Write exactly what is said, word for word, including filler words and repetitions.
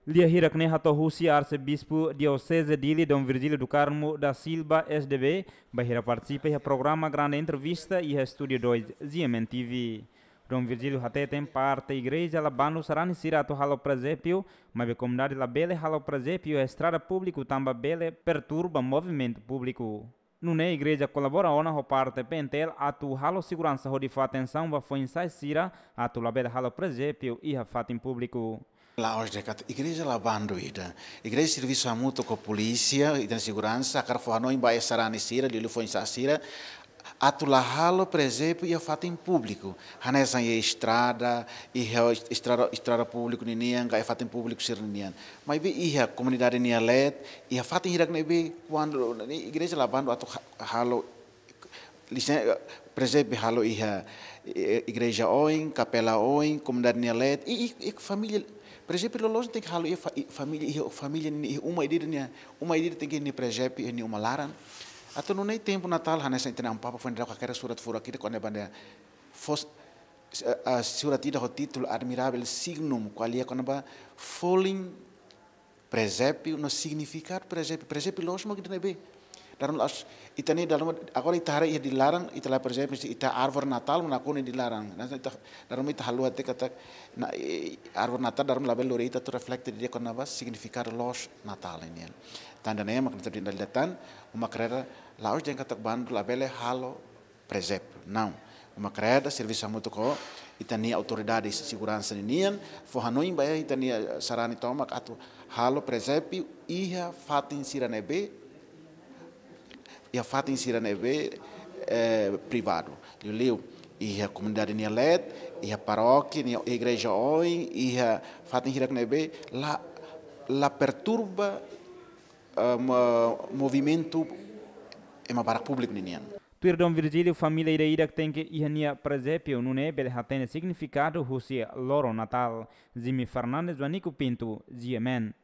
Lia hirak ne'e hato'o husi Arsebispu Dioseze Dili, Dom Virgílio do Carmo da Silva, S D B, bainhira partisipa iha programa Grande Entrevista iha Estúdiu dois, G M N T V. Dom Virgílio hateten parte igreja la bandu sarani sira atu halo presépiu, maibé komunidade labele halo presépiu iha estrada públiku tanba bele perturba movimentu públiku. Nune'e igreja kolabora ona ho parte P N T L atu halo seguransa hodi fó atensaun ba foin-sa'e sira atu labele halo presépiu iha fatin públiku. La'ós de'it katak igreja la bandu ida. Igreja servisu hamutuk ho polísia, ita-nia seguransa, hakarak fó hanoin ba sarani sira, liuliu foin-sa'e sira, atu la halo presépiu iha fatin públiku. Hanesan iha estrada, iha estrada, estrada públiku ninian, ka iha fatin públiku sira-nian. Maibé iha komunidade nia leet, iha fatin hirak ne'ebé, kuandu ne'e igreja la bandu atu ha-, halo, lisen-, presépiu halo iha, eh, igreja oin, kapela oin, komunidade nia leet, i, i, i família, presépiu loloos tenke halo iha fa-, i família, iha família ninia, iha uma ida-idak nian, uma ida-idak tenke iha nia presépiu iha nia uma laran. Atu nune'e tempu Natál, hanesan ita-nia Amu Papa foin daudauk hakerek surat furak ida kona-ba ne'e, fó, eh, eh, surat ida ho títulu Admirável Signum, ko'alia kona-ba folin presépiu no signifikadu presépiu. Presépiu loloos mak ida ne'ebé. Dala ruma la'ós, ita-nia dala ruma, agora ita haree iha Dili laran, ita la, por ezemplu, se ita árvore Natál, mak nakonu iha Dili laran. Nah, ita, dala ruma ita haluha tiha katak, na, eh, árvore Natál, dala ruma labele lori ita atu reflete didi'ak kona-ba signifikadu loos Natál nian. Tan ida-ne'e mak ita brinda lida tan, uma kreda, la'ós dehan katak bandu labele halo presépiu. Não. Uma kreda, servisu hamutuk ho ita-nia autoridade seguransa ninian, fó hanoin ba ita-nia sarani tomak atu halo presépiu iha fatin sira ne'ebé, iha fatin sira ne'ebé, eh, privadu. Liuliu, iha komunidade nia leet, iha parókia, nia igreja oin, iha fatin hirak ne'ebé, la, la perturba, eh, mo-, movimentu ema barak públiku ninian. Tuir Dom Virgílio, família ida-idak tenke iha nia presépiu, nune'e bele hatene signifikadu husi loron Natál. Jimmy Fernandes, Joanico Pinto, G M N.